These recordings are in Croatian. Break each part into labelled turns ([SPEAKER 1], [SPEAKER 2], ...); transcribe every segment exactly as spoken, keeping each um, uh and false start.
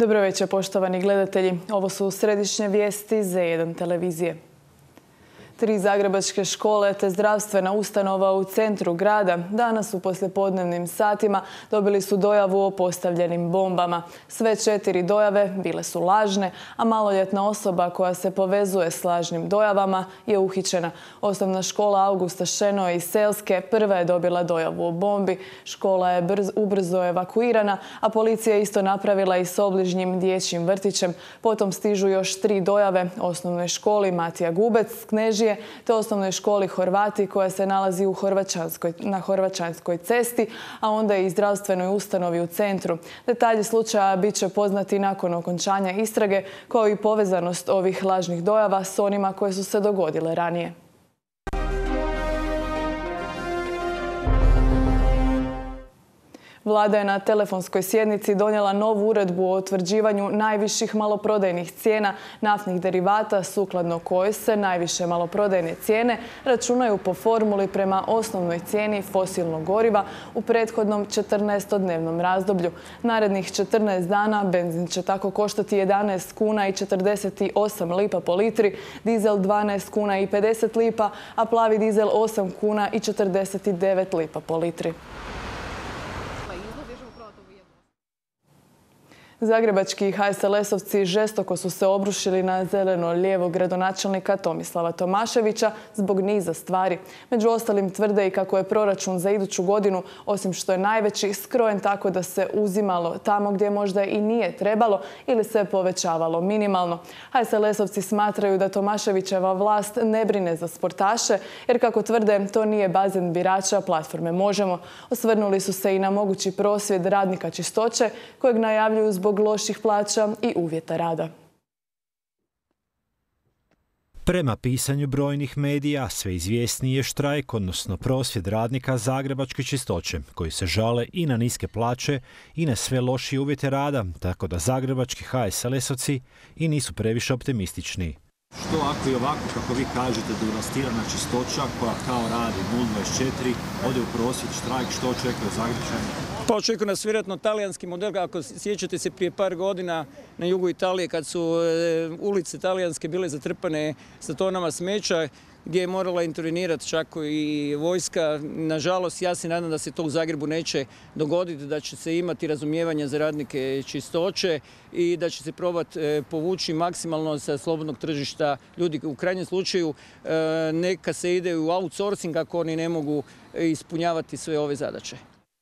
[SPEAKER 1] Dobro večer, poštovani gledatelji. Ovo su središnje vijesti Z jedan televizije. Tri zagrebačke škole te zdravstvena ustanova u centru grada danas u poslijepodnevnim satima dobili su dojavu o postavljenim bombama. Sve četiri dojave bile su lažne, a maloljetna osoba koja se povezuje s lažnim dojavama je uhićena. Osnovna škola Augusta Šenoa iz Selske prva je dobila dojavu o bombi. Škola je brz, ubrzo evakuirana, a policija je isto napravila i s obližnjim dječjim vrtićem. Potom stižu još tri dojave osnovnoj školi Matija Gubec, Knežije, te osnovnoj školi Horvati koja se nalazi u Horvaćanskoj, na Horvaćanskoj cesti, a onda i zdravstvenoj ustanovi u centru. Detalji slučaja bit će poznati nakon okončanja istrage, kao i povezanost ovih lažnih dojava s onima koje su se dogodile ranije. Vlada je na telefonskoj sjednici donijela novu uredbu o utvrđivanju najviših maloprodajnih cijena naftnih derivata, sukladno kojoj se najviše maloprodajne cijene računaju po formuli prema osnovnoj cijeni fosilnog goriva u prethodnom četrnaestodnevnom razdoblju. Narednih četrnaest dana benzin će tako koštati jedanaest kuna i četrdeset osam lipa po litri, dizel dvanaest kuna i pedeset lipa, a plavi dizel osam kuna i četrdeset devet lipa po litri. Zagrebački ha es el esovci žestoko su se obrušili na zeleno-lijevog gradonačelnika Tomislava Tomaševića zbog niza stvari. Među ostalim tvrde i kako je proračun za iduću godinu, osim što je najveći, skrojen tako da se uzimalo tamo gdje možda i nije trebalo ili se povećavalo minimalno. ha es el esovci smatraju da Tomaševićeva vlast ne brine za sportaše, jer kako tvrde, to nije bazen birača platforme Možemo. Osvrnuli su se i na mogući prosvjed radnika čistoće, kojeg najavljuju zbog loših plaća i uvjeta rada.
[SPEAKER 2] Prema pisanju brojnih medija, sve izvjesniji je štrajk, odnosno prosvjed radnika zagrebačke čistoće, koji se žale i na niske plaće i na sve lošije uvjete rada, tako da zagrebački ha es el esovci i nisu previše optimistični.
[SPEAKER 3] Što ako i ovako, kako vi kažete, devastirana čistoća koja kao radi nula dvadeset četiri, ode u prosvjed, štrajk, što očekuje Zagrebačani?
[SPEAKER 4] Pa očekuje nas vjerojatno talijanski model. Ako sjećate se prije par godina na jugu Italije kad su ulice talijanske bile zatrpane sa tonama smeća, gdje je morala intervenirati čak i vojska. Nažalost, ja se nadam da se to u Zagrebu neće dogoditi, da će se imati razumijevanja za radnike čistoće i da će se probati povući maksimalno sa slobodnog tržišta ljudi. U krajnjem slučaju neka se ide u outsourcing ako oni ne mogu ispunjavati sve ove zadaće.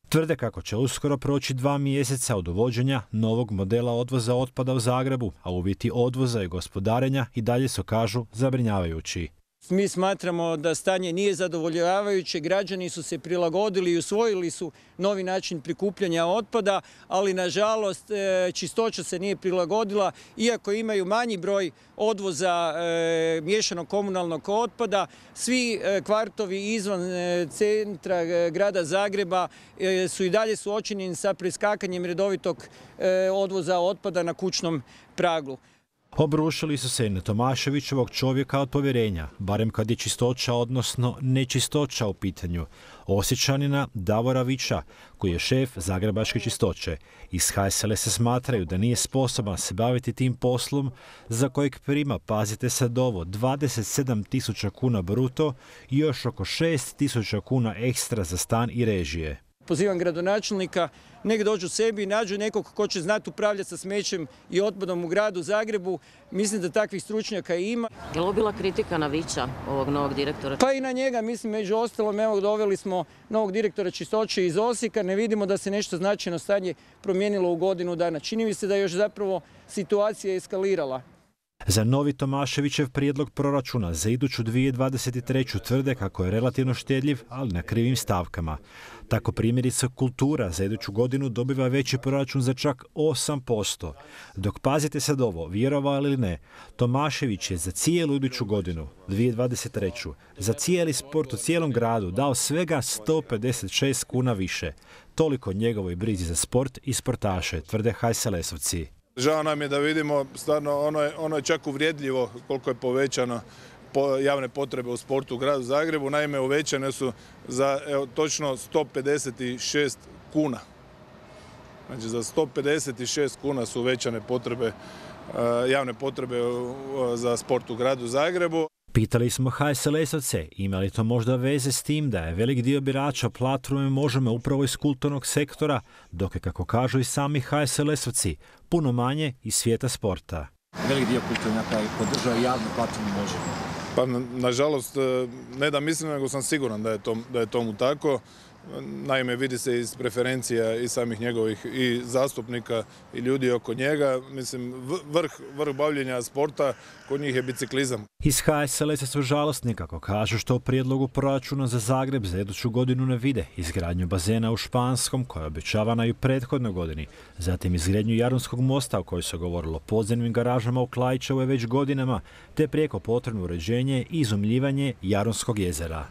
[SPEAKER 2] Tvrde kako će uskoro proći dva mjeseca od uvođenja novog modela odvoza otpada u Zagrebu, a uvjeti odvoza i gospodarenja i dalje su, kažu, zabrinjavajući.
[SPEAKER 4] Mi smatramo da stanje nije zadovoljavajuće, građani su se prilagodili i usvojili su novi način prikupljanja otpada, ali nažalost čistoća se nije prilagodila, iako imaju manji broj odvoza miješanog komunalnog otpada. Svi kvartovi izvan centra grada Zagreba su i dalje suočeni sa preskakanjem redovitog odvoza otpada na kućnom pragu.
[SPEAKER 2] Obrušili su se i na Tomaševićevog čovjeka od povjerenja, barem kad je čistoća, odnosno nečistoća u pitanju, Osječanina Davora Vića, koji je šef zagrebačke čistoće. Iz ha es el se smatraju da nije sposoban se baviti tim poslom za kojeg prima, pazite sad ovo, dvadeset sedam tisuća kuna bruto i još oko šest tisuća kuna ekstra za stan i režije.
[SPEAKER 4] Pozivam gradonačelnika, nek dođu sebi i nađu nekog ko će znati upravljati sa smećem i otpadom u gradu Zagrebu. Mislim da takvih stručnjaka ima.
[SPEAKER 5] Je li ovo bila kritika na Vića, ovog novog direktora?
[SPEAKER 4] Pa i na njega, mislim, među ostalom, evo, doveli smo novog direktora čistoće iz Osijeka, ne vidimo da se nešto značajno stanje promijenilo u godinu dana. Čini mi se da je još zapravo situacija eskalirala.
[SPEAKER 2] Za novi Tomaševićev prijedlog proračuna za iduću dvije tisuće dvadeset treću tvrde kako je relativno štedljiv, ali na krivim stavkama. Tako primjerice kultura za iduću godinu dobiva veći proračun za čak osam posto. Dok, pazite sad ovo, vjerovali ili ne, Tomašević je za cijelu iduću godinu, dvije tisuće dvadeset treću, za cijeli sport u cijelom gradu dao svega sto pedeset šest kuna više. Toliko njegovoj brizi za sport i sportaše, tvrde ha es el esovci.
[SPEAKER 6] Žao nam je da vidimo, stvarno ono je, ono je čak uvrijedljivo koliko je povećano po javne potrebe u sportu u gradu Zagrebu. Naime, uvećane su za evo, točno sto pedeset šest kuna. Znači za sto pedeset šest kuna su uvećane potrebe, javne potrebe za sport u gradu Zagrebu.
[SPEAKER 2] Pitali smo ha es el esovce ima li to možda veze s tim da je velik dio birača platforme Možemo upravo iz kulturnog sektora, dok je, kako kažu i sami ha es el esovci, puno manje iz svijeta sporta.
[SPEAKER 3] Velik dio kulturnjaka je podržao javnu platformu Možemo.
[SPEAKER 6] Pa nažalost, ne da mislim, nego sam siguran da je, to, da je tomu tako. Naime, vidi se iz preferencija i samih njegovih i zastupnika i ljudi oko njega. Mislim, vrh, vrh bavljenja sporta kod njih je biciklizam.
[SPEAKER 2] Iz ha es el esa su žalostni, kako kažu, što u prijedlogu proračuna za Zagreb za iduću godinu ne vide izgradnju bazena u Španskom, koja je obećavana i u prethodnoj godini, zatim izgradnju Jarunskog mosta, o kojoj se govorilo podzemnim garažama u Klaićevoj već godinama, te prijeko potrebno uređenje i izumljivanje Jarunskog jezera.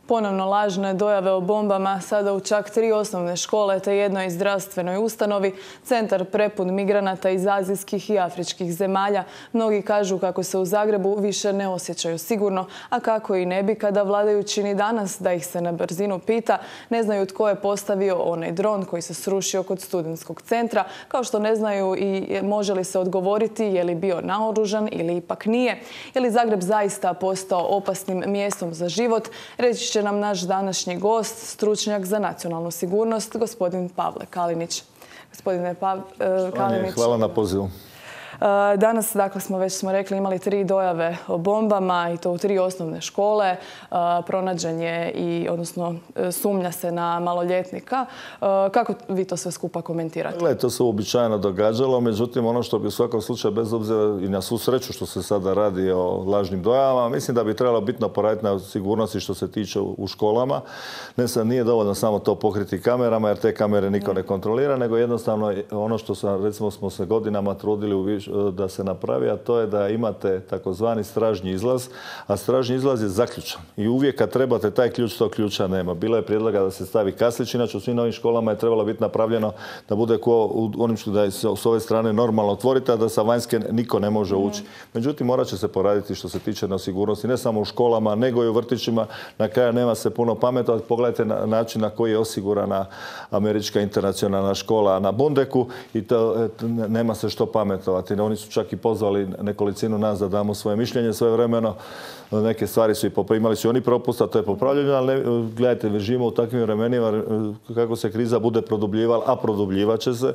[SPEAKER 1] Ponovno lažne dojave o bombama, sada u čak tri osnovne škole te jednoj zdravstvenoj ustanovi, centar prepun migranata iz azijskih i afričkih zemalja. Mnogi kažu kako se u Zagrebu više ne osjećaju sigurno, a kako i ne bi kada vladajući ni danas, da ih se na brzinu pita, ne znaju tko je postavio onaj dron koji se srušio kod studentskog centra, kao što ne znaju i može li se odgovoriti je li bio naoružan ili ipak nije. Je li Zagreb zaista postao opasnim mjestom za život? Reći će nam naš današnji gost, stručnjak za nacionalnu sigurnost, gospodin Pavle Kalinić. Gospodine Pav, Kalinić.
[SPEAKER 7] Hvala na pozivu.
[SPEAKER 1] Danas, dakle, smo već smo rekli, imali tri dojave o bombama i to u tri osnovne škole. Pronađen je i, odnosno, sumnja se na maloljetnika. Kako vi to sve skupa komentirate?
[SPEAKER 7] Gle, to se uobičajeno događalo, međutim, ono što bi u svakom slučaju, bez obzira i na svu sreću što se sada radi o lažnim dojavama, mislim da bi trebalo bitno poraditi na sigurnosti što se tiče u školama. Ne sad nije dovoljno samo to pokriti kamerama, jer te kamere niko ne kontrolira, nego jednostavno ono što sam, recimo, smo se godinama trudili u više da se napravi, a to je da imate takozvani stražnji izlaz, a stražnji izlaz je zaključan. I uvijek kad trebate taj ključ, tog ključa nema. Bilo je prijedloga da se stavi kaslić, inače u svim novim školama je trebalo biti napravljeno da bude ko u onim što da je s ove strane normalno otvorite, a da sa vanjske niko ne može ući. Međutim, morat će se poraditi što se tiče na sigurnosti, ne samo u školama, nego i u vrtićima. Na kraju nema se puno pametovati. Pogledajte na način na koji je osigurana američka internacionalna škola na Bundeku i to nema se što pametovati. Oni su čak i pozvali nekolicinu nas da damo svoje mišljenje svojevremeno. Neke stvari su i poprimali su i oni propusta, to je popravljeno, ali ne, gledajte, živimo u takvim vremenima kako se kriza bude produbljivala, a produbljivat će se.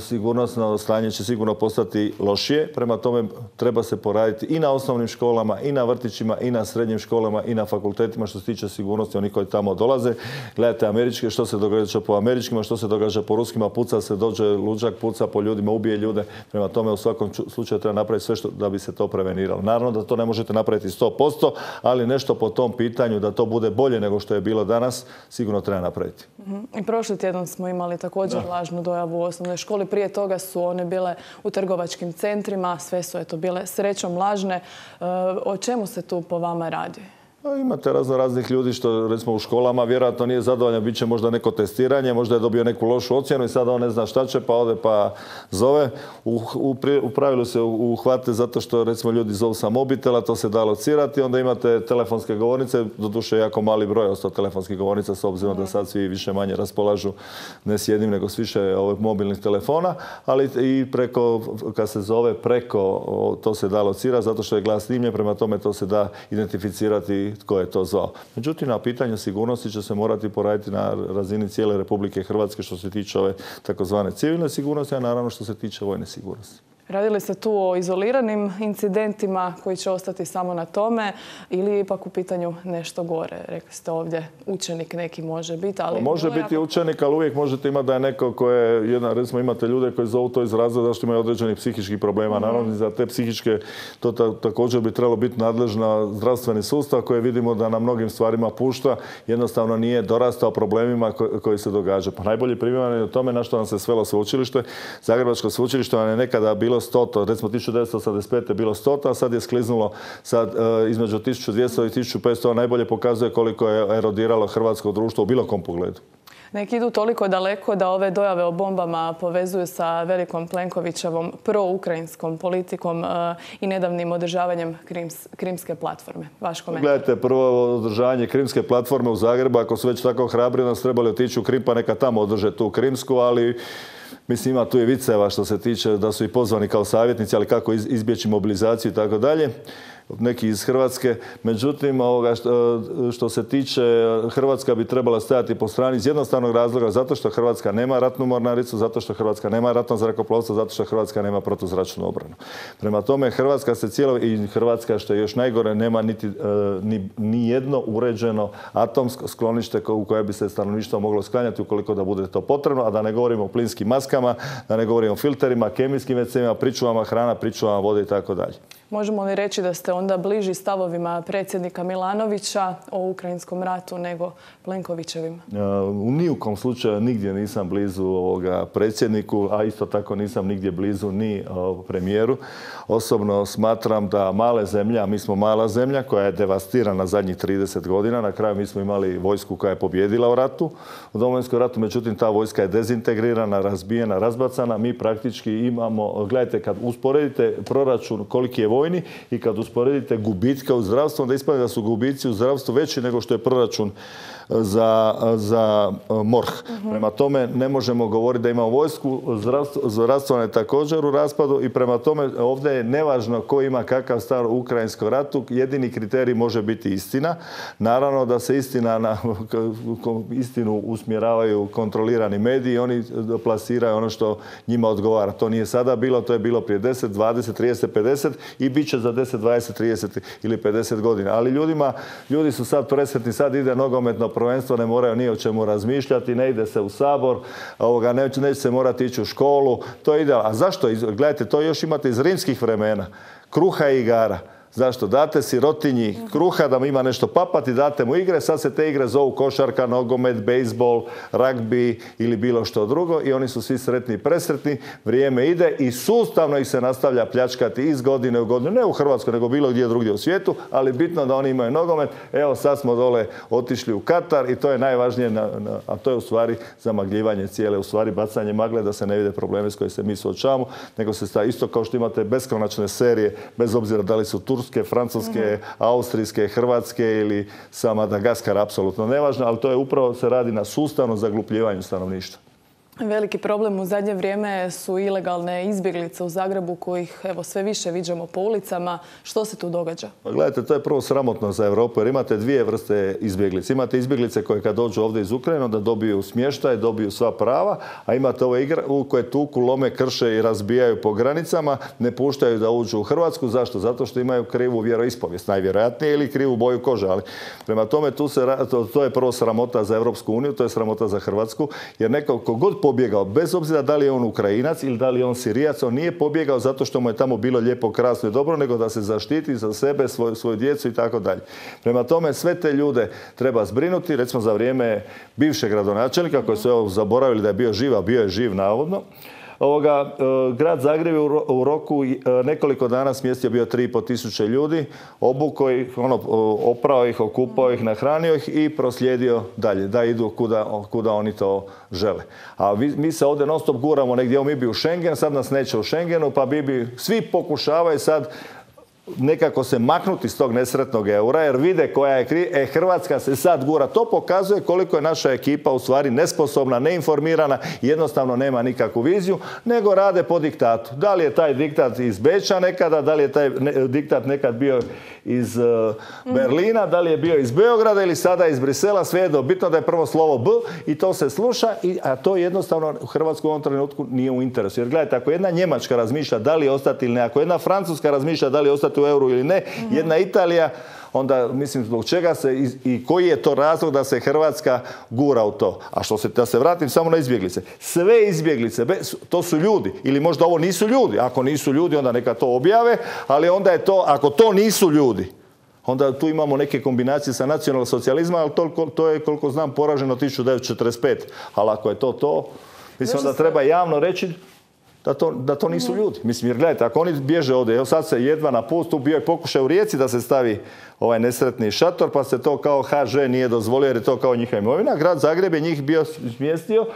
[SPEAKER 7] Sigurnosno stanje će sigurno postati lošije. Prema tome treba se poraditi i na osnovnim školama, i na vrtićima, i na srednjim školama, i na fakultetima što se tiče sigurnosti oni koji tamo dolaze. Gledajte američke, što se događa po američkima, što se događa po ruskima, puca se, dođe luđak, puca po ljudima, ubije ljude. Prema tome u svakom slučaju treba napraviti sve što, da bi se to preveniralo. Naravno da to ne možete napraviti sto posto, ali nešto po tom pitanju da to bude bolje nego što je bilo danas, sigurno treba napraviti.
[SPEAKER 1] I prošli tjedan smo imali također da. lažnu dojavu u osnovnoj školi. Prije toga su one bile u trgovačkim centrima, sve su eto bile srećom lažne. O čemu se tu po vama radi?
[SPEAKER 7] Imate razno raznih ljudi što recimo u školama vjerojatno nije zadovoljan, bit će možda neko testiranje, možda je dobio neku lošu ocjenu i sada on ne zna šta će pa ode pa zove. U, u, u pravilu se uhvate zato što recimo ljudi zovu sa mobitela, to se da locirati, onda imate telefonske govornice, doduše jako mali broj ostao telefonskih govornica s obzirom da sad svi više manje raspolažu ne s jednim nego s više ovih mobilnih telefona, ali i preko, kad se zove preko, to se da locirati zato što je glas snimljen, prema tome to se da identificirati tko je to zvao. Međutim, na pitanju sigurnosti će se morati poraditi na razini cijele Republike Hrvatske što se tiče ove takozvane civilne sigurnosti, a naravno što se tiče vojne sigurnosti.
[SPEAKER 1] Radi li se tu o izoliranim incidentima koji će ostati samo na tome ili ipak u pitanju nešto gore? Rekli ste ovdje učenik neki može biti, ali...
[SPEAKER 7] Može biti jako... učenik, ali uvijek možete imati da je neko koje je, jedna, recimo imate ljude koji zovu to iz razloga zašto imaju određenih psihičkih problema. Mm-hmm. Naravno, za te psihičke to ta, također bi trebalo biti nadležna zdravstveni sustav koji vidimo da na mnogim stvarima pušta, jednostavno nije dorastao problemima ko, koji se događaju. Pa najbolji primjer je o tome na što nam se svelo sveučilište. Zagrebačko sveučilište nam je nekada bilo sto, recimo tisuću devetsto osamdeset pete je bilo sto, a sad je skliznulo sad, e, između tisuću dvjesto i tisuću petsto, najbolje pokazuje koliko je erodiralo hrvatsko društvo u bilo kom pogledu.
[SPEAKER 1] Neki idu toliko daleko da ove dojave o bombama povezuju sa velikom Plenkovićevom proukrajinskom politikom i nedavnim održavanjem Krimske platforme. Vaš komentar?
[SPEAKER 7] Gledajte, prvo održavanje Krimske platforme u Zagrebu, ako su već tako hrabri, nas trebali otići u Krim, pa neka tamo održe tu Krimsku, ali mislim ima tu i viceva što se tiče da su i pozvani kao savjetnici, ali kako izbjeći mobilizaciju i tako dalje. Neki iz Hrvatske. Međutim, ovoga što, što se tiče, Hrvatska bi trebala stajati po strani iz jednostavnog razloga, zato što Hrvatska nema ratnu mornaricu, zato što Hrvatska nema ratno zrakoplovstvo, zato što Hrvatska nema protuzračnu obranu. Prema tome, Hrvatska se cijelo, i Hrvatska, što je još najgore, nema niti ni, ni jedno uređeno atomsko sklonište u koje bi se stanovništvo moglo sklanjati ukoliko da bude to potrebno, a da ne govorimo o plinskim maskama, da ne govorimo o filterima, kemijskim ve ce-ima, pričuvama hrana, pričuvama vode i tako dalje.
[SPEAKER 1] Možemo li reći da ste onda bliži stavovima predsjednika Milanovića o ukrajinskom ratu nego Plenkovićevim?
[SPEAKER 7] U nijukom slučaju nigdje nisam blizu ovoga predsjedniku, a isto tako nisam nigdje blizu ni premijeru. Osobno smatram da male zemlje, a mi smo mala zemlja koja je devastirana zadnjih trideset godina. Na kraju mi smo imali vojsku koja je pobjedila u ratu, u Domovinskom ratu, međutim ta vojska je dezintegrirana, razbijena, razbacana. Mi praktički imamo, gledajte, kad usporedite proračun koliki je vojni i kad usporedite gubitke u zdravstvu, onda ispadne da su gubici u zdravstvu veći nego što je proračun za, za MORH. Uh-huh. Prema tome ne možemo govoriti da imamo vojsku, zdravstvo, zdravstvo je također u raspadu i prema tome ovdje je nevažno ko ima kakav stav u ukrajinskom ratu, jedini kriterij može biti istina. Naravno da se istina na istinu usmjeravaju kontrolirani mediji, oni plasiraju ono što njima odgovara. To nije sada bilo, to je bilo prije deset, dvadeset, trideset, pedeset i bit će za deset, dvadeset, trideset ili pedeset godina. Ali ljudima, ljudi su sad presretni, sad ide nogometno prvenstvo, ne moraju ni o čemu razmišljati, ne ide se u Sabor, ovoga, neće, neće se morati ići u školu. To ide. A zašto? Gledajte, to još imate iz rimskih vremena. Kruha i igara. Zašto? Date sirotinji kruha da mu ima nešto papati, date mu igre, sad se te igre zovu košarka, nogomet, bejsbol, ragbi ili bilo što drugo i oni su svi sretni i presretni, vrijeme ide i sustavno ih se nastavlja pljačkati iz godine u godinu, ne u Hrvatskoj, nego bilo gdje drugdje u svijetu, ali bitno da oni imaju nogomet. Evo sad smo dole otišli u Katar i to je najvažnije, na, na, a to je u stvari zamagljivanje cijele, u stvari bacanje magle da se ne vide probleme s koje se mi suočavamo, nego se stavi isto kao što imate beskonačne serije, bez obzira da li su Turske, francuske, austrijske, hrvatske ili sa Madagaskara, apsolutno nevažno, ali to je upravo se radi na sustavnom zaglupljivanju stanovništva.
[SPEAKER 1] Veliki problem u zadnje vrijeme su ilegalne izbjeglice u Zagrebu kojih evo sve više viđamo po ulicama. Što se tu događa?
[SPEAKER 7] Pa gledajte, to je prvo sramotno za Europu jer imate dvije vrste izbjeglice. Imate izbjeglice koje kad dođu ovdje iz Ukrajine da dobiju smještaj, dobiju sva prava, a imate ove igre koje tuku, lome, krše i razbijaju po granicama, ne puštaju da uđu u Hrvatsku. Zašto? Zato što imaju krivu vjeroispovijest, najvjerojatnije, ili krivu boju kože. Ali prema tome tu se, to, to je prvo sramota za Europsku uniju, to je sramota za Hrvatsku, jer neko kogod pobjegao, bez obzira da li je on Ukrajinac ili da li je on Sirijac, on nije pobjegao zato što mu je tamo bilo lijepo, krasno i dobro, nego da se zaštiti za sebe, svoju, svoju djecu i tako dalje. Prema tome, sve te ljude treba zbrinuti, recimo za vrijeme bivšeg gradonačelnika, koji su evo zaboravili da je bio živ, a bio je živ navodno. Ovoga, grad Zagreb je u roku nekoliko dana smjestio bio tri i pol tisuće ljudi, obukao ih, ono, oprao ih, okupao ih, nahranio ih i proslijedio dalje, da idu kuda, kuda oni to žele. A vi, mi se ovdje non stop guramo negdje, mi bi u Schengen, sad nas neće u Schengenu, pa bi, bi svi pokušavaju sad nekako se maknuti iz tog nesretnog eura jer vide koja je kriva. E, Hrvatska se sad gura. To pokazuje koliko je naša ekipa u stvari nesposobna, neinformirana, jednostavno nema nikakvu viziju, nego rade po diktatu. Da li je taj diktat iz Beča nekada, da li je taj ne, diktat nekad bio iz uh, Berlina, da li je bio iz Beograda ili sada iz Brisela, svejedno, bitno da je prvo slovo B i to se sluša, i, a to jednostavno u Hrvatskoj u ovom trenutku nije u interesu. Jer gledajte, ako jedna Njemačka razmišlja da li ostati ili ne, ako jedna Francuska razmišlja da li ostati u euru ili ne, mm-hmm. jedna Italija, onda mislim zbog čega se i, i koji je to razlog da se Hrvatska gura u to. A što se, da se vratim samo na izbjeglice. Sve izbjeglice, to su ljudi. Ili možda ovo nisu ljudi. Ako nisu ljudi, onda neka to objave, ali onda je to, ako to nisu ljudi, onda tu imamo neke kombinacije sa nacionalnog socijalizma, ali to, to je, koliko znam, poraženo tisuću devetsto četrdeset pete. Ali ako je to to, mislim da treba javno reći da to, da to nisu ljudi. Mislim, jer gledajte, ako oni bježe ovdje, evo sad se jedva na pustu, bio je pokušaj u Rijeci da se stavi ovaj nesretni šator, pa se to kao ha že nije dozvolio jer je to kao njihova imovina. Grad Zagreb je njih bio smjestio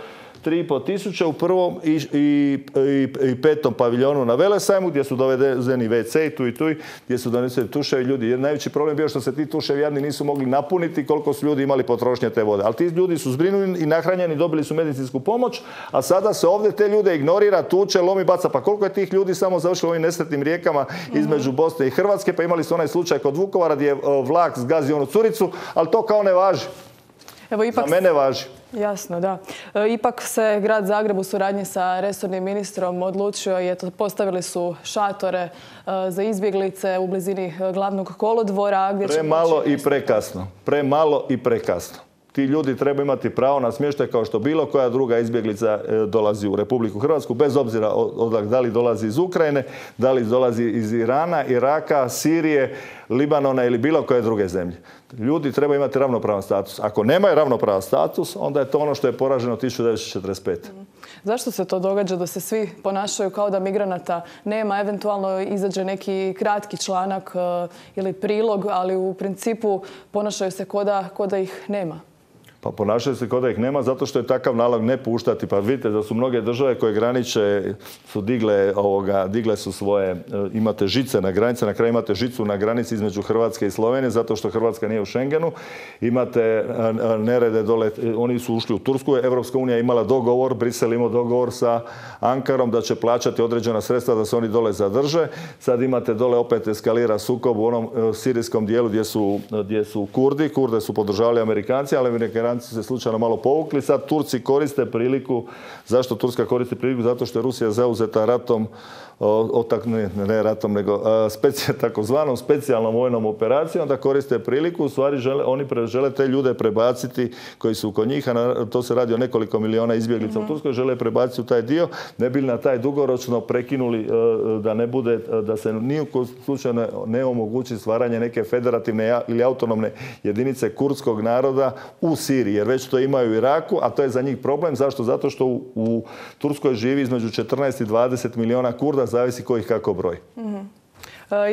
[SPEAKER 7] tri i pol tisuće u prvom i, i, i, i petom paviljonu na Velesajmu, gdje su dovedeni ve ce i tu i tu, gdje su doneseni tuševi ljudi. Jer najveći problem bio što se ti tuševi jadni nisu mogli napuniti koliko su ljudi imali potrošnje te vode. Ali ti ljudi su zbrinuli i nahranjeni, dobili su medicinsku pomoć, a sada se ovdje te ljude ignorira, tuče, lomi, baca. Pa koliko je tih ljudi samo završilo ovim nesretnim rijekama između Bosne i Hrvatske, pa imali su onaj slučaj kod Vukovara gdje je vlak zgazio onu curicu, ali to kao ne važi.
[SPEAKER 1] Evo, ipak...
[SPEAKER 7] Za mene važi.
[SPEAKER 1] Jasno, da. E, ipak se grad Zagreb u suradnji sa resornim ministrom odlučio i eto, postavili su šatore e, za izbjeglice u blizini glavnog kolodvora. Gdje
[SPEAKER 7] Premalo
[SPEAKER 1] će...
[SPEAKER 7] i prekasno. Premalo i prekasno. Ti ljudi trebaju imati pravo na smještaj kao što bilo koja druga izbjeglica dolazi u Republiku Hrvatsku, bez obzira od, da li dolazi iz Ukrajine, da li dolazi iz Irana, Iraka, Sirije, Libanona ili bilo koje druge zemlje. Ljudi trebaju imati ravnopravan status. Ako nemaju ravnopravan status, onda je to ono što je poraženo tisuću devetsto četrdeset pete.
[SPEAKER 1] Zašto se to događa da se svi ponašaju kao da migranata nema? Eventualno izađe neki kratki članak uh, ili prilog, ali u principu ponašaju se kao da, kao da ih nema.
[SPEAKER 7] Pa ponašaju se kao da ih nema zato što je takav nalog ne puštati. Pa vidite da su mnoge države koje graniče su digle, ovoga, digle su svoje, imate žice na granici, na kraju imate žicu na granici između Hrvatske i Slovenije zato što Hrvatska nije u Schengenu. Imate nerede dole, oni su ušli u Tursku, Evropska unija imala dogovor, Brisel imao dogovor sa Ankarom da će plaćati određena sredstva da se oni dole zadrže. Sad imate dole opet eskalira sukob u onom sirijskom dijelu gdje su, gdje su Kurdi. Kurde su podržavali Amerikanci, ali Amerikanci se slučajno malo povukli. Sad Turci koriste priliku. Zašto Turska koristi priliku? Zato što je Rusija zauzeta ratom, otak, ne, ne ratom, nego specija, takozvanom specijalnom vojnom operacijom, da koriste priliku. U stvari žele, oni pre, žele te ljude prebaciti koji su kod njih, a na, to se radi o nekoliko miliona izbjeglica mm-hmm. u Turskoj, žele prebaciti u taj dio, ne bi na taj dugoročno prekinuli da ne bude, da se ni u slučaju ne, ne omogući stvaranje neke federativne ili autonomne jedinice kurdskog naroda u Siriji, jer već to imaju u Iraku, a to je za njih problem. Zašto? Zato što u, u Turskoj živi između četrnaest i dvadeset miliona Kurda, zavisi ko ih kako broj.
[SPEAKER 1] Mm-hmm.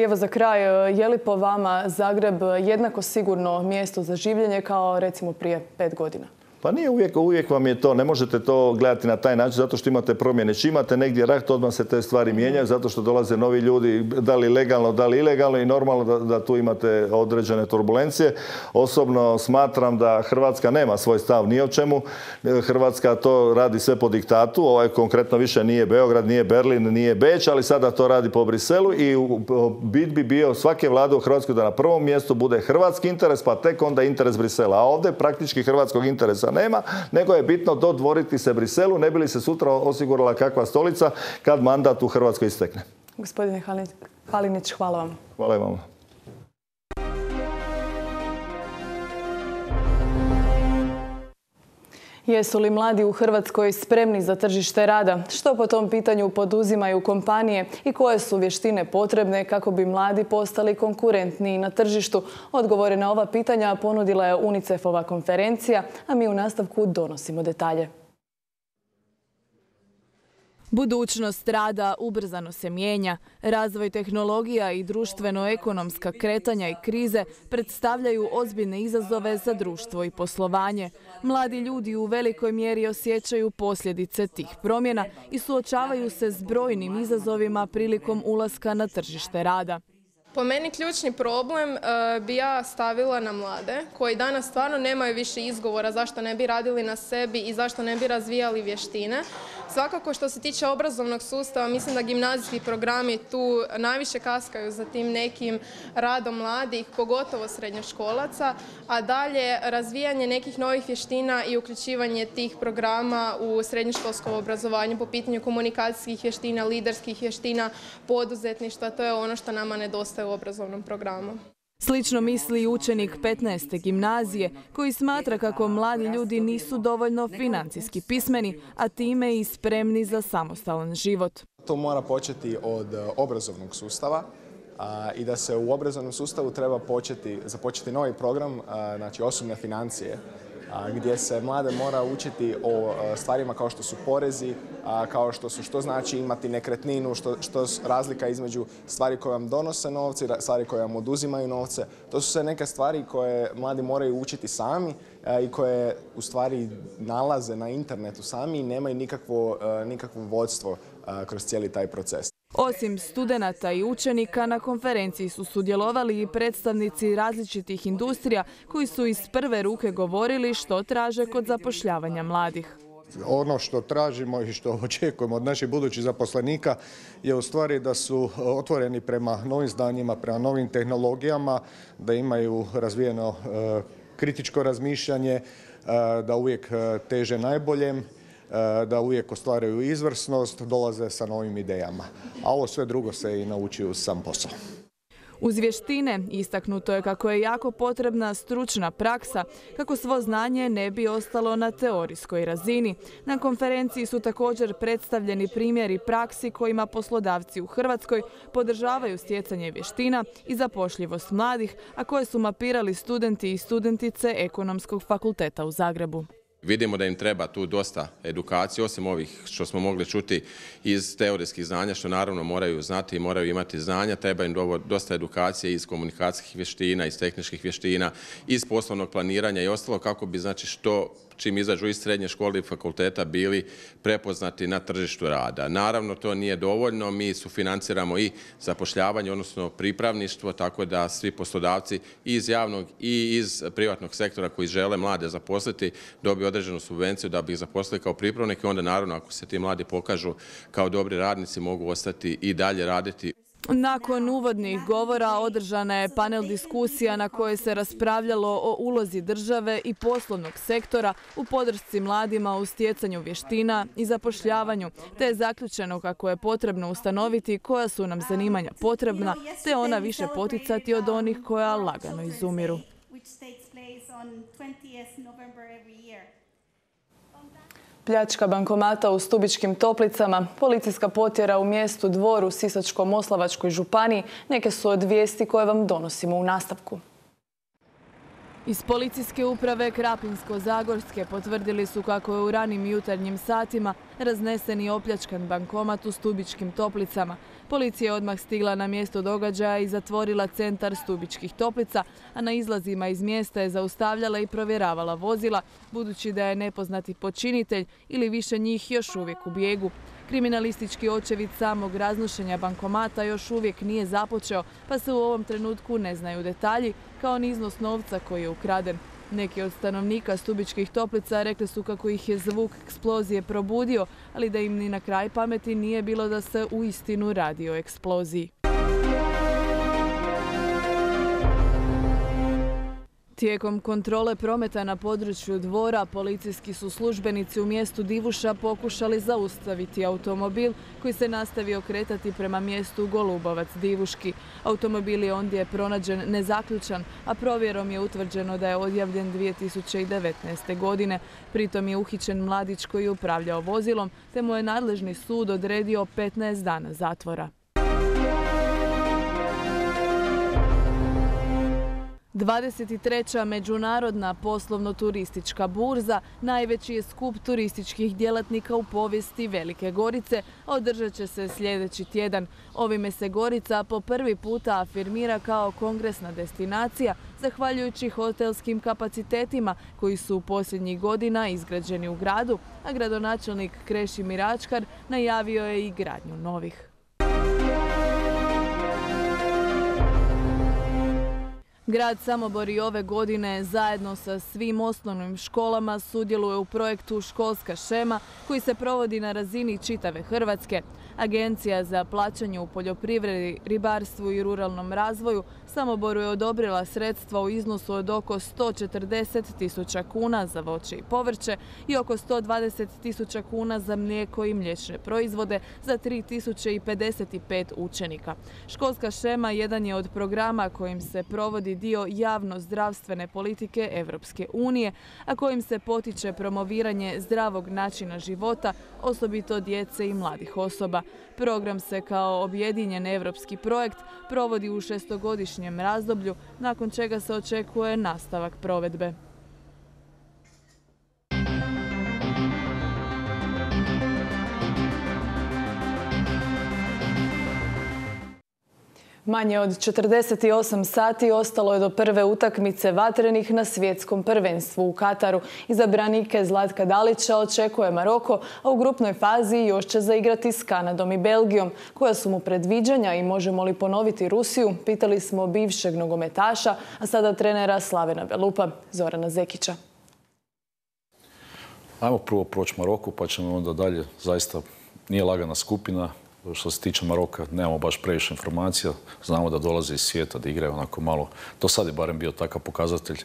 [SPEAKER 1] Evo za kraj, je li po vama Zagreb jednako sigurno mjesto za življenje kao recimo prije pet godina?
[SPEAKER 7] Pa nije uvijek, uvijek vam je to, ne možete to gledati na taj način zato što imate promjene. Čim imate negdje rat, odmah se te stvari mijenjaju zato što dolaze novi ljudi, da li legalno, da li ilegalno i normalno da, da tu imate određene turbulencije. Osobno smatram da Hrvatska nema svoj stav ni o čemu. Hrvatska to radi sve po diktatu. Ovaj konkretno više nije Beograd, nije Berlin, nije Beč, ali sada to radi po Briselu i bit bi bio svake vlade u Hrvatskoj da na prvom mjestu bude hrvatski interes, pa tek onda interes Brisela. A ovdje praktički hrvatskog interesa nema, nego je bitno dodvoriti se Briselu, ne bi li se sutra osigurala kakva stolica kad mandat u Hrvatskoj istekne.
[SPEAKER 1] Gospodine Halinić, hvala vam.
[SPEAKER 7] Hvala vam.
[SPEAKER 1] Jesu li mladi u Hrvatskoj spremni za tržište rada? Što po tom pitanju poduzimaju kompanije i koje su vještine potrebne kako bi mladi postali konkurentniji na tržištu? Odgovore na ova pitanja ponudila je UNICEF-ova konferencija, a mi u nastavku donosimo detalje. Budućnost rada ubrzano se mijenja. Razvoj tehnologija i društveno-ekonomska kretanja i krize predstavljaju ozbiljne izazove za društvo i poslovanje. Mladi ljudi u velikoj mjeri osjećaju posljedice tih promjena i suočavaju se s brojnim izazovima prilikom ulaska na tržište rada.
[SPEAKER 8] Po meni ključni problem uh, bi ja stavila na mlade koji danas stvarno nemaju više izgovora zašto ne bi radili na sebi i zašto ne bi razvijali vještine. Svakako što se tiče obrazovnog sustava, mislim da gimnazijski programi tu najviše kaskaju za tim nekim radom mladih, pogotovo srednjoškolaca, a dalje razvijanje nekih novih vještina i uključivanje tih programa u srednjoškolsko obrazovanje po pitanju komunikacijskih vještina, liderskih vještina, poduzetništva, to je ono što nama nedostaje u obrazovnom programu.
[SPEAKER 1] Slično misli i učenik petnaeste gimnazije koji smatra kako mladi ljudi nisu dovoljno financijski pismeni, a time i spremni za samostalan život.
[SPEAKER 9] To mora početi od obrazovnog sustava a, i da se u obrazovnom sustavu treba početi, započeti novi program, a, znači osobne financije, gdje se mlade mora učiti o stvarima kao što su porezi, kao što su što znači imati nekretninu, što, što razlika između stvari koje vam donose novce i stvari koje vam oduzimaju novce. To su sve neke stvari koje mladi moraju učiti sami i koje u stvari nalaze na internetu sami i nemaju nikakvo, nikakvo vodstvo kroz cijeli taj proces.
[SPEAKER 1] Osim studenata i učenika, na konferenciji su sudjelovali i predstavnici različitih industrija koji su iz prve ruke govorili što traže kod zapošljavanja mladih.
[SPEAKER 10] Ono što tražimo i što očekujemo od naših budućih zaposlenika je u stvari da su otvoreni prema novim znanjima, prema novim tehnologijama, da imaju razvijeno kritičko razmišljanje, da uvijek teže najboljem, da uvijek ostvaraju izvrsnost, dolaze sa novim idejama. A ovo sve drugo se i nauči uz sam posao.
[SPEAKER 1] Uz vještine istaknuto je kako je jako potrebna stručna praksa kako svo znanje ne bi ostalo na teorijskoj razini. Na konferenciji su također predstavljeni primjeri praksi kojima poslodavci u Hrvatskoj podržavaju stjecanje vještina i zapošljivost mladih, a koje su mapirali studenti i studentice Ekonomskog fakulteta u Zagrebu.
[SPEAKER 11] Vidimo da im treba tu dosta edukacije, osim ovih što smo mogli čuti iz teorijskih znanja, što naravno moraju znati i moraju imati znanja. Treba im dosta edukacije iz komunikacijskih vještina, iz tehničkih vještina, iz poslovnog planiranja i ostalo kako bi, znači, što čim izađu iz srednje škole i fakulteta bili prepoznati na tržištu rada. Naravno, to nije dovoljno. Mi sufinanciramo i zapošljavanje, odnosno pripravništvo, tako da svi poslodavci iz javnog i iz privatnog sektora koji žele mlade zaposliti dobiju određenu subvenciju da bi ih zaposlili kao pripravnik i onda naravno ako se ti mladi pokažu kao dobri radnici mogu ostati i dalje raditi.
[SPEAKER 1] Nakon uvodnih govora održana je panel diskusija na kojoj se raspravljalo o ulozi države i poslovnog sektora u podršci mladima u stjecanju vještina i zapošljavanju, te je zaključeno kako je potrebno ustanoviti koja su nam zanimanja potrebna, te ona više poticati od onih koja lagano izumiru. Pljačka bankomata u Stubičkim Toplicama, policijska potjera u mjestu Dvor u Sisačko-moslavačkoj županiji neke su od vijesti koje vam donosimo u nastavku. Iz policijske uprave Krapinsko-zagorske potvrdili su kako je u ranim jutarnjim satima raznesen i opljačkan bankomat u Stubičkim Toplicama. Policija je odmah stigla na mjesto događaja i zatvorila centar Stubičkih Toplica, a na izlazima iz mjesta je zaustavljala i provjeravala vozila, budući da je nepoznati počinitelj ili više njih još uvijek u bijegu. Kriminalistički očevid samog raznošenja bankomata još uvijek nije započeo, pa se u ovom trenutku ne znaju detalji, kao ni iznos novca koji je ukraden. Neki od stanovnika Stubičkih Toplica rekli su kako ih je zvuk eksplozije probudio, ali da im ni na kraj pameti nije bilo da se uistinu radi o eksploziji. Tijekom kontrole prometa na području Dvora, policijski su službenici u mjestu Divuša pokušali zaustaviti automobil koji se nastavio kretati prema mjestu Golubovac-Divuški. Automobil je ondje pronađen nezaključan, a provjerom je utvrđeno da je odjavljen dvije tisuće devetnaeste. godine. Pritom je uhićen mladić koji je upravljao vozilom, te mu je nadležni sud odredio petnaest dana zatvora. dvadeset treća Međunarodna poslovno-turistička burza najveći je skup turističkih djelatnika u povijesti Velike Gorice, a održat će se sljedeći tjedan. Ovime se Gorica po prvi puta afirmira kao kongresna destinacija, zahvaljujući hotelskim kapacitetima koji su u posljednjih godina izgrađeni u gradu, a gradonačelnik Krešimir Ačkar najavio je i gradnju novih. Grad Samobor i ove godine zajedno sa svim osnovnim školama sudjeluje u projektu Školska šema koji se provodi na razini čitave Hrvatske. Agencija za plaćanje u poljoprivredi, ribarstvu i ruralnom razvoju Samoboru je odobrila sredstva u iznosu od oko sto četrdeset tisuća kuna za voće i povrće i oko sto dvadeset tisuća kuna za mlijeko i mliječne proizvode za tri tisuće pedeset pet učenika. Školska šema jedan je od programa kojim se provodi dio javno-zdravstvene politike Evropske unije, a kojim se potiče promoviranje zdravog načina života, osobito djece i mladih osoba. Program se kao objedinjen evropski projekt provodi u šestogodišnjem razdoblju, nakon čega se očekuje nastavak provedbe. Manje od četrdeset osam sati ostalo je do prve utakmice vatrenih na svjetskom prvenstvu u Kataru. Izabranike Zlatka Dalića očekuje Maroko, a u grupnoj fazi još će zaigrati s Kanadom i Belgijom. Koja su mu predviđanja i možemo li ponoviti Rusiju? Pitali smo bivšeg nogometaša, a sada trenera Slavena Belupa, Zorana Zekića.
[SPEAKER 12] Ajmo prvo proći Maroku, pa ćemo onda dalje. Zaista nije lagana skupina. Što se tiče Maroka, nemamo baš previše informacija. Znamo da dolaze iz svijeta, da igraju onako malo. Do sad je barem bio takav pokazatelj.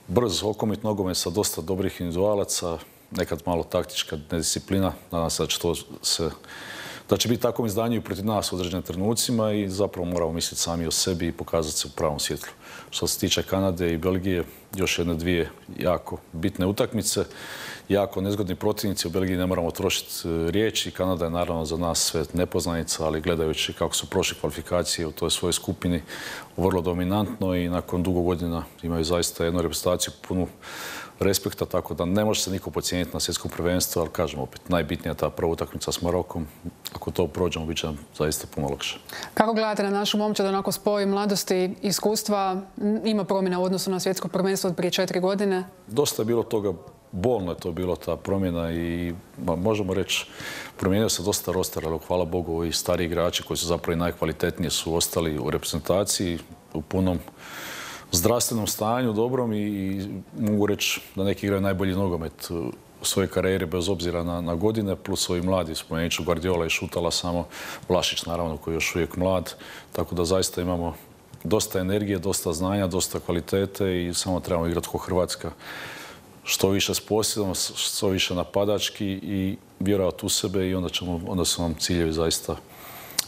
[SPEAKER 12] Brz, okomit nogomet sa dosta dobrih individualaca, nekad malo taktička nedisciplina. Nadam se da će to se... da će biti takvom izdanju i protiv nas u određenim trenucima i zapravo moramo misliti sami o sebi i pokazati se u pravom svjetlu. Što se tiče Kanade i Belgije, još jedne dvije jako bitne utakmice, jako nezgodni protivnici. U Belgiji ne moramo trošiti riječi. Kanada je naravno za nas sve nepoznanica, ali gledajući kako su prošle kvalifikacije u toj svojoj skupini, vrlo dominantno i nakon dugo godina imaju zaista jednu reprezentaciju punu respekta, tako da ne može se niko pocijeniti na svjetskom prvenstvu, ali kažem opet, najbitnija je ta prva utakmica s Marokom. Ako to prođemo, bit će nam zaista puno lakše.
[SPEAKER 13] Kako gledate na našu momčad, onako spoj mladosti i iskustva? Ima promjena u odnosu na svjetsko prvenstvo od prije četiri godine?
[SPEAKER 12] Dosta je bilo toga, bolno je to bilo ta promjena i možemo reći, promijenio se dosta roster, ali hvala Bogu i stari igrači koji su zapravo i najkvalitetniji su ostali u reprezentaciji u punom zdravstvenom stanju, dobrom i mogu reći da neki igraju najbolji nogomet u svojoj karijeri bez obzira na, na godine, plus ovi mladi, spomenut ću Guardiola i Šutala samo, Vlašić naravno koji je još uvijek mlad, tako da zaista imamo dosta energije, dosta znanja, dosta kvalitete i samo trebamo igrati ko Hrvatska. Što više s posjedom, što više napadački i vjerovati u sebe i onda, ćemo, onda su nam ciljevi zaista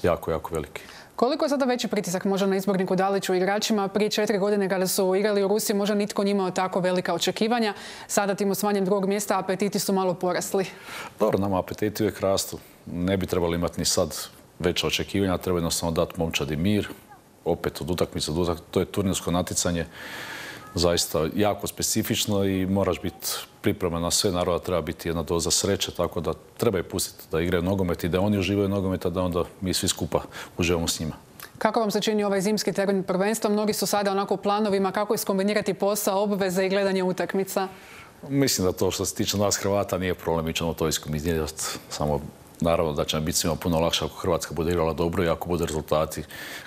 [SPEAKER 12] jako, jako veliki.
[SPEAKER 13] Koliko je sada veći pritisak možda na izborniku Daliću i igračima? Prije četiri godine kada su igrali u Rusiji možda nitko nije imao tako velika očekivanja. Sada tim osvanjem drugog mjesta apetiti su malo porasli.
[SPEAKER 12] Dobro, nama apetiti uvijek rastu. Ne bi trebali imati ni sad veća očekivanja, treba jednostavno dati momčadi mir. Opet od utakmice do utakmice, to je turnirsko natjecanje. Zaista jako specifično i moraš biti pripreman na sve. Naravno treba biti jedna doza sreće, tako da treba i pustiti da igraju nogomet i da oni uživaju nogomet, a da onda mi svi skupa uživamo s njima.
[SPEAKER 13] Kako vam se čini ovaj zimski termin prvenstva? Mnogi su sada onako u planovima kako iskombinirati posao, obveze i gledanje utakmica.
[SPEAKER 12] Mislim da to što se tiče nas Hrvata nije problem, mi ćemo to iskombinirati. Samo naravno da će nam biti svima puno lakše ako Hrvatska bude igrala dobro i ako bude rezultati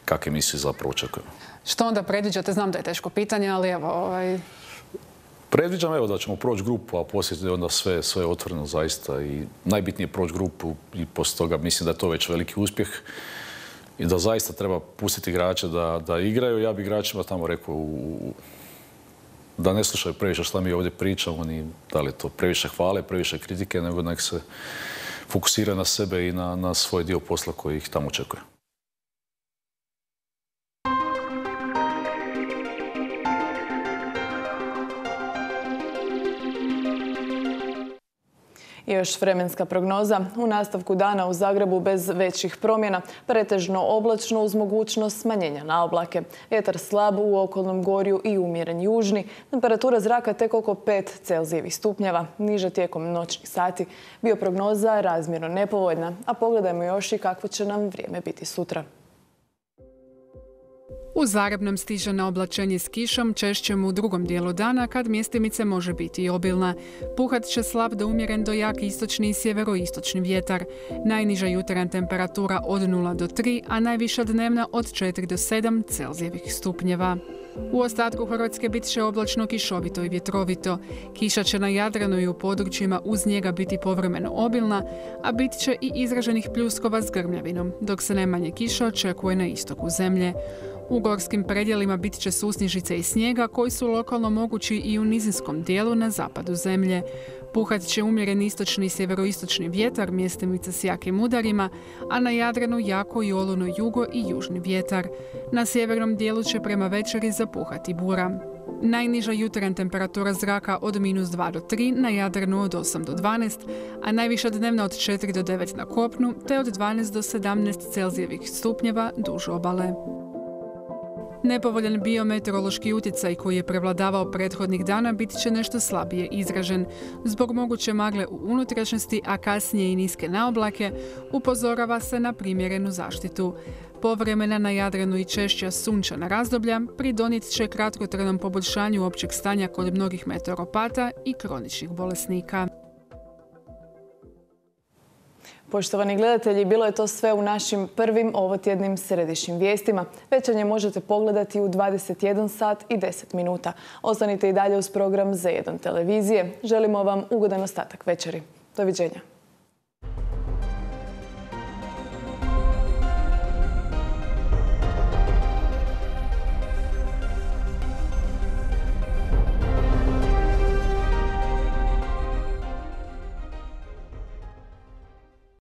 [SPEAKER 12] kakve mi svi zapravo očekujemo.
[SPEAKER 13] Što onda predviđate? Znam da je teško pitanje, ali evo... Ovaj...
[SPEAKER 12] Predviđam evo da ćemo proći grupu, a poslije je onda sve, sve otvoreno zaista i najbitnije je proći grupu i poslije toga mislim da je to već veliki uspjeh i da zaista treba pustiti igrače da, da igraju. Ja bih igračima tamo rekao u, da ne slušaju previše šta mi ovdje pričamo, ni da li je to previše hvale, previše kritike, nego nek se fokusira na sebe i na, na svoj dio posla koji ih tamo očekuje.
[SPEAKER 1] I još vremenska prognoza. U nastavku dana u Zagrebu bez većih promjena, pretežno oblačno uz mogućnost smanjenja na oblake. Vjetar slab u okolnom gorju i umjeren južni. Temperatura zraka tek oko pet Celzijevih stupnjeva. Niže tijekom noćnih sati. Bioprognoza razmjerno nepovoljna. A pogledajmo još i kakvo će nam vrijeme biti sutra.
[SPEAKER 13] U Zagreb nam stiže na oblačenje s kišom, češćem u drugom dijelu dana kad mjestimice može biti i obilna. Puhat će slab do umjeren do jak istočni i sjeveroistočni vjetar. Najniža jutarnja temperatura od nula do tri, a najviša dnevna od četiri do sedam Celzijevih stupnjeva. U ostatku Hrvatske bit će oblačno, kišovito i vjetrovito. Kiša će na Jadranu i u područjima uz njega biti povremeno obilna, a bit će i izraženih pljuskova s grmljavinom, dok se najmanje kiša očekuje na istoku zemlje. U gorskim predjelima bit će susnježice i snijega koji su lokalno mogući i u nizinskom dijelu na zapadu zemlje. Puhat će umjeren istočni i sjeveroistočni vjetar, mjestimice s jakim udarima, a na Jadranu jako i oluno jugo i južni vjetar. Na sjevernom dijelu će prema večeri zapuhati bura. Najniža jutarnja temperatura zraka od minus dva do tri, na Jadranu od osam do dvanaest, a najviša dnevna od četiri do devet na kopnu, te od dvanaest do sedamnaest Celzijevih stupnjeva duž obale. Nepovoljan biometeorološki utjecaj koji je prevladavao prethodnih dana bit će nešto slabije izražen. Zbog moguće magle u unutrašnjosti, a kasnije i niske naoblake, upozorava se na primjerenu zaštitu. Povremena na Jadranu i češća sunčana razdoblja pridonijet će kratkotrajnom poboljšanju općeg stanja kod mnogih meteoropata i kroničnih bolesnika.
[SPEAKER 1] Poštovani gledatelji, bilo je to sve u našim prvim ovotjednim središnjim vijestima. Večernje možete pogledati u dvadeset jedan sat i deset minuta. Ostanite i dalje uz program Z jedan televizije. Želimo vam ugodan ostatak večeri. Doviđenja.